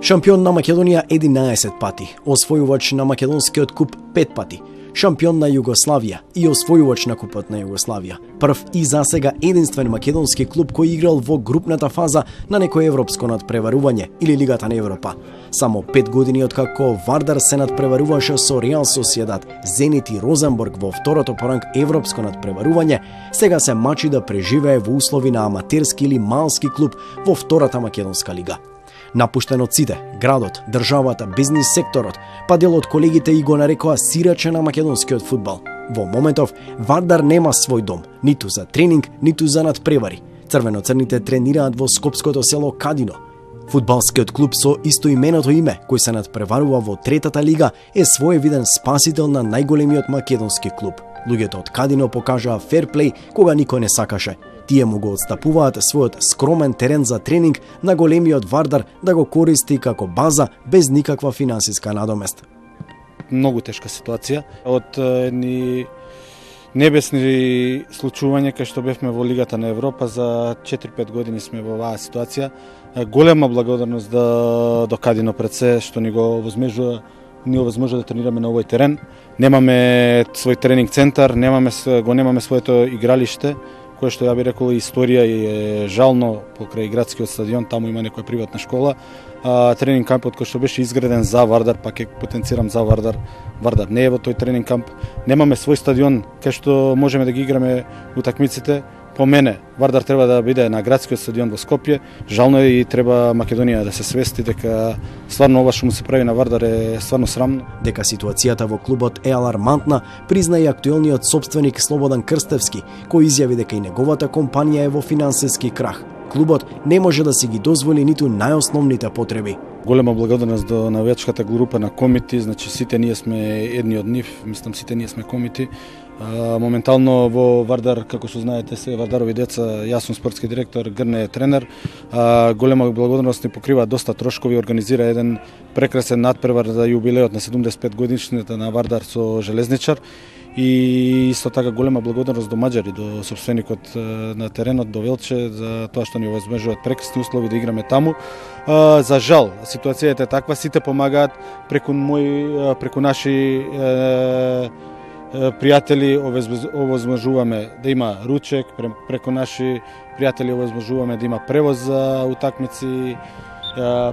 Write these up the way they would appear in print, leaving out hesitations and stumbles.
Шампион на Македонија 11 пати, освојувач на македонскиот куп 5 пати, шампион на Југославија и освојувач на купот на Југославија. Прв и засега единствен македонски клуб кој играл во групната фаза на некој европско надпреварување или Лигата на Европа. Само 5 години откако Вардар се надпреваруваше со Реал Сосиедад, Зенит и Розенбург во второто по ранг европско надпреварување, сега се мачи да преживее во услови на аматерски или малски клуб во втората македонска лига. Напуштен од сите, градот, државата, бизнис секторот, па дел од колегите и го нарекоа сираче на македонскиот фудбал. Во моментов, Вардар нема свој дом, ниту за тренинг, ниту за надпревари. Црвено-црните тренираат во скопското село Кадино. Фудбалскиот клуб со истоименото име, кој се надпреварува во третата лига, е своевиден спасител на најголемиот македонски клуб. Луѓето од Кадино покажаа ферплей кога никој не сакаше. Тие му го отстапуваат својот скромен терен за тренинг на големиот Вардар да го користи како база без никаква финансиска надомест. Многу тешка ситуација. Од едни небесни случувања кај што бевме во Лигата на Европа, за 4-5 години сме во оваа ситуација. Голема благодарност до Кадино пред се што ни го овозможува да тренираме на овој терен. Немаме свој тренинг центар, немаме своето игралиште, кое што ја би рекол историја и е жално покрај градскиот стадион, таму има некоја приватна школа. Тренинг кампот кој што беше изграден за Вардар, па ќе потенцирам за Вардар не е во тој тренинг камп. Немаме свој стадион кај што можеме да ги играме утакмиците. По мене, Вардар треба да биде на градскиот стадион во Скопје. Жално е и треба Македонија да се свести дека стварно ова што му се прави на Вардар е стварно срамно. Дека ситуацијата во клубот е алармантна, призна и актуелниот собственик Слободан Крстевски, кој изјави дека и неговата компанија е во финансиски крах. Клубот не може да си ги дозволи ниту најосновните потреби. Голема благодарност до навијачката група на Комити, значи сите ние сме едни од нив, мислам сите ние сме Комити. Моментално во Вардар, како што знаете, се Вардарови деца, јас сум спортски директор, Грне е тренер. Голема благодарност ни покрива доста трошкови, организира еден прекрасен надпревар за јубилеот на 75 годишнината на Вардар со Железничар. И исто така голема благодарност до Маđари, до собственикот на теренот, до Велче, за тоа што ни овозможуваат прекрасни услови да играме таму. За жал, ситуацијата е таква, сите помагаат преку наши пријатели овозможуваме да има ручек, преку наши пријатели овозможуваме да има превоз за утакмици,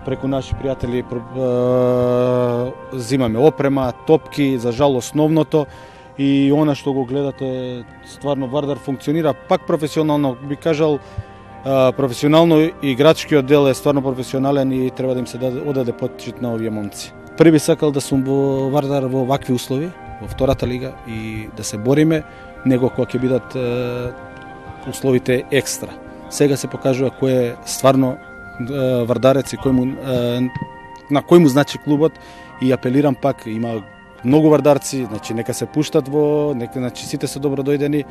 преку наши пријатели зимаме опрема, топки, за жал основното. И она што го гледате, стварно Вардар функционира пак професионално, би кажал, професионално играчкиот дел е стварно професионален и треба да им се одаде почит на овие момци. Први сакал да сум во Вардар во вакви услови, во втората лига и да се бориме, него кога ќе бидат условите екстра. Сега се покажува кој е стварно вардарец и на кој му значи клубот и апелирам пак, има многу вардарци, значи нека се пуштат значи сите се добро дојдени,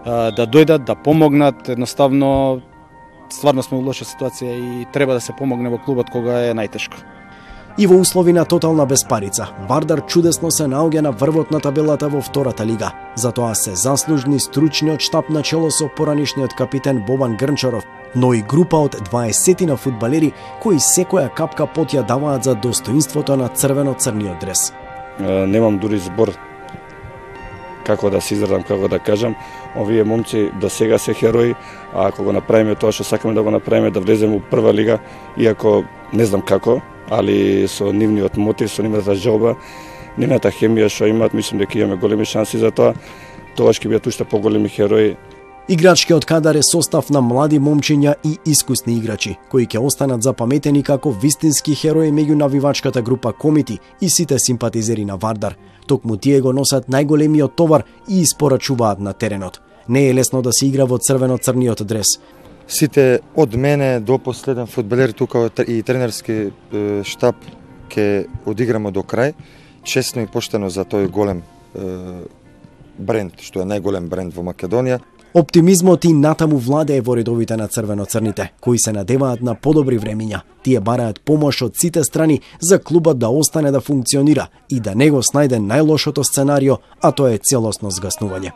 да дојдат, да помогнат, едноставно стварно сме во лоша ситуација и треба да се помогне во клубот кога е најтешко. И во услови на тотална безпарица, Вардар чудесно се наоѓа на врвот на табелата во втората лига. Затоа се заслужни стручниот штаб на чело со поранишниот капитен Бобан Грнчаров, но и група од 20 на фудбалери кои секоја капка пот ја даваат за достоинството на црвено-црниот дрес. Немам дури збор како да се изразам, како да кажам. Овие момци до сега се херои, а ако го направиме тоа што сакаме да го направиме, да влеземе во прва лига, иако не знам како, али со нивниот мотив, со нивната желба, нивната хемија што имаат, мислам дека имаме големи шанси за тоа. Тоа ќе бидат уште поголеми херои. Играчкиот кадар е состав на млади момчиња и искусни играчи, кои ќе останат запаметени како вистински херои меѓу навивачката група Комити и сите симпатизери на Вардар. Токму тие го носат најголемиот товар и испорачуваат на теренот. Не е лесно да се игра во црвено-црниот дрес. Сите од мене до последен фудбалер тука и тренерски штаб ќе одиграмо до крај, честно и поштено за тој голем бренд, што е најголем бренд во Македонија. Оптимизмот и натаму владее во редовите на црвено-црните, кои се надеваат на подобри времиња. Тие бараат помош од сите страни за клубот да остане да функционира и да не го снајде најлошото сценарио, а тоа е целосно згаснување.